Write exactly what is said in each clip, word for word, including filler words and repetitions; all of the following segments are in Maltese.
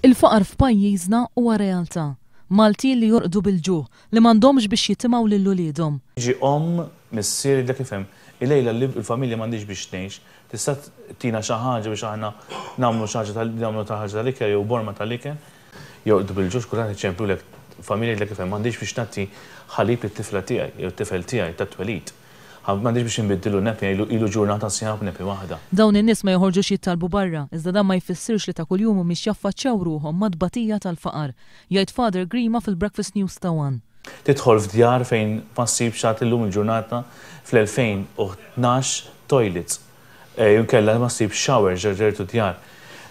Il-faqar f'pajjiżna huwa realtà. Maltin li jorqdu bil-ġuħ, li m'għandhomx biex jitimgħu lil uliedhom. Ġi omm, missier, dak ifhem, il-lejla li l-familja m'għandix biex tgħix, tista' tina xi ħaġa biex aħna nagħmlu xi ħaġa tal nagħmlu ta' ħaġa tal-ikel jew borma tal-ikel. Jorqdu bil-ġuħ, kulħadd iċemplulek familja dak ifhem, m'għandix biex nagħti ħalib lit-tifla tiegħi jew t-tifel tiegħi tat-twelid. M'għandix biex inbiddilu nappy, ilu ilu ġurnata sħiħa b'nappy waħda. Dawn in-nies ma joħorġux jittalbu barra, iżda dan ma jfissirx li ta' kuljum mhumiex jaffaċċjaw ruħhom mat-tbatija tal-faqar. Jgħid Father Grima fil-Breakfast News ta' One. Tidħol f'djar fejn ma ssibx għad illum il-ġurnata fl-elfejn u tnax toilets. Jew inkella ma ssibx showers ġertu djar.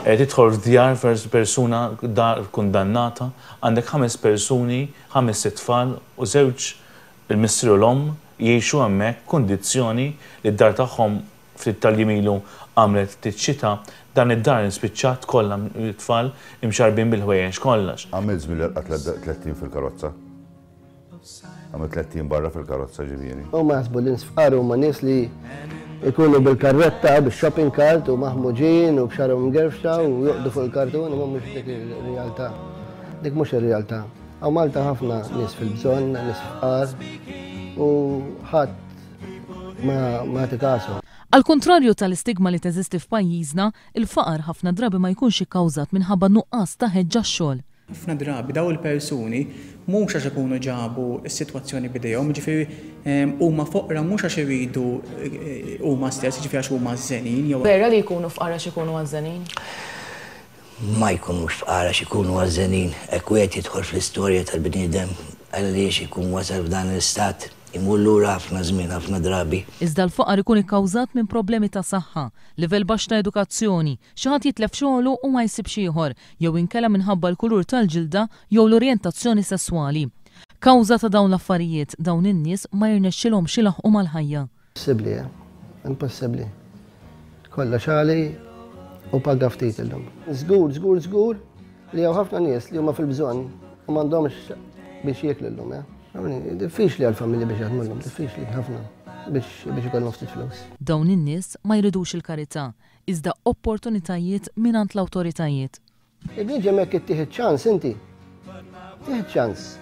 Tidħol f'djar persuna dar kundannata, għandek ħames persuni, ħames tfal u żewġ, il-missier u l-omm, jgħixu hemmhekk kundizzjoni li d-dar tagħhom ftit tal-jiem ilu għamlet ftit xita, dan id-dar spiċċat kollha t-tfal imxarbin bil-ħwejjeġ kollox. Għamilt żmien li rqadt tlett ijiem fil-karozza. Għamilt tlett ijiem barra fil-karozza, ġifieri. U ma jaħsbu li nies fqar huma nies li ikunu bil-karretta, bil-shopping cart u maħmuġin u b'xagħarhom mgerfxa u joqogħdu fuq il-kartun, ma mhux dik il-realtà. Dik mhux ir-realtà. Hawn Malta ħafna nies fil-bżonn, nies fqar u ħadd ma ma tikasu. Al kontrarju tal-istigma li teżisti f'pajjiżna, il-faqar ħafna drabi ma jkunx ikkawżat minħabba nuqqas ta' ħeġġa xogħol. Ħafna drabi daw il-persuni mhux għax ikunu ġabu s-sitwazzjoni b'idejhom, ġifieri huma foqra mhux għax iridu eh, huma stess, ġifieri għax huma żenin jew Vera li jkunu fqar għax ikunu għażżenin? Ma jkunux fqar għax ikunu għażżenin, hekk wieħed jidħol fl-istorja tal-bniedem għaliex ikun wasal f'dan l-istat, imur lura ħafna żmien, ħafna drabi. Iżda l-faqar ikun ikkawżat minn problemi ta' saħħa, livell baxx ta' edukazzjoni, xi ħadd jitlef xogħlu u ma jsibx ieħor, jew inkella minħabba l-kulur tal-ġilda jew l-orjentazzjoni sesswali. Kawża ta' dawn l-affarijiet, dawn in-nies ma jirnexxilhomx ilaħqu mal-ħajja. Impossibbli, eh? Impossibbli. Kollox għali u paga ftit illum. Żgur, żgur, żgur li hawn ħafna nies li huma fil-bżonn u m'għandhomx biex jieklu llum, eh? Diffiċli għal-familji biex jaħdmu llum, diffiċli ħafna biex biex ikollhom ftit flus. Dawn in-nies ma jridux il-karità, iżda opportunitajiet mingħand l-awtoritajiet. Il-bniedem jekk ittih ċans inti. Tih ċans.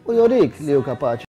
U jurik li hu kapaċi.